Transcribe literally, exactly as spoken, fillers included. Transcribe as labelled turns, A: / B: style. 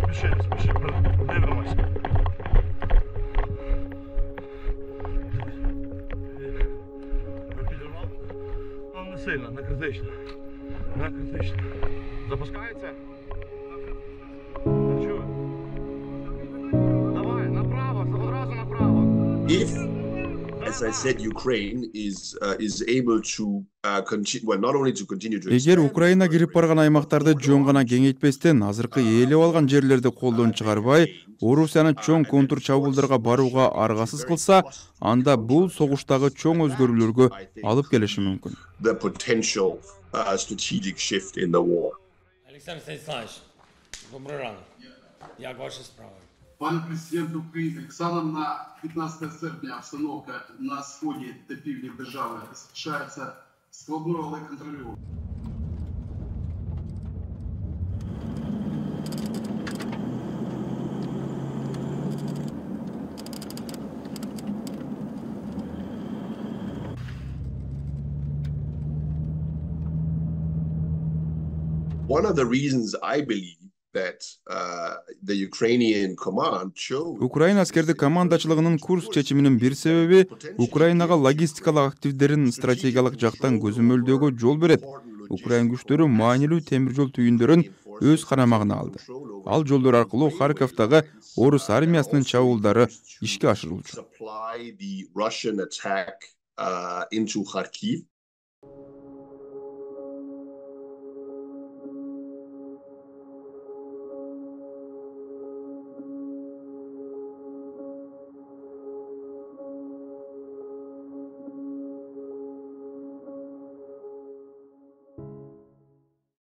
A: Спеши, спеши, не врывайся. Підірвав? Ну, не сильно, не критично. Не критично. Запускається? Чую. Давай, направо, одразу направо.
B: If, as I said, Ukraine is uh, is able to uh, continue, well, not only to continue to
C: Эгер Украина кирип барган аймактарды жөн гана кеңейтпестен азыркы ээлеп алган жерлерди колдон чыгарбай, Орусияны чоң контур чабуулдарга барууга аргасыз кылса, анда бул согуштагы чоң өзгөрүүлөргө алып келиши мүмкүн.
B: the potential uh, strategic shift in the war.
D: Александр Станиславович, добрый ранок. Як ваши справы?
E: Пан президент України, станом на п'ятнадцяте серпня обстановка на сході та півдні держави залишається складною, але контрольованою.
B: One of the reasons I believe that uh, the Ukrainian command chose
C: Украина аскердик командачылыгынын курс чечиминин бир себеби Украинага логистикалык активдерин стратегиялык жактан көзөмөлдөөгө жол берет. Украин күчтөрү маанилүү темир жол түйүндөрүн өз карамагына алды. Ал жолдор аркылуу Харьковдагы орус армиясынын чабуулдары ишке ашырылчу.
B: supply the Russian attack uh, into Kharkiv.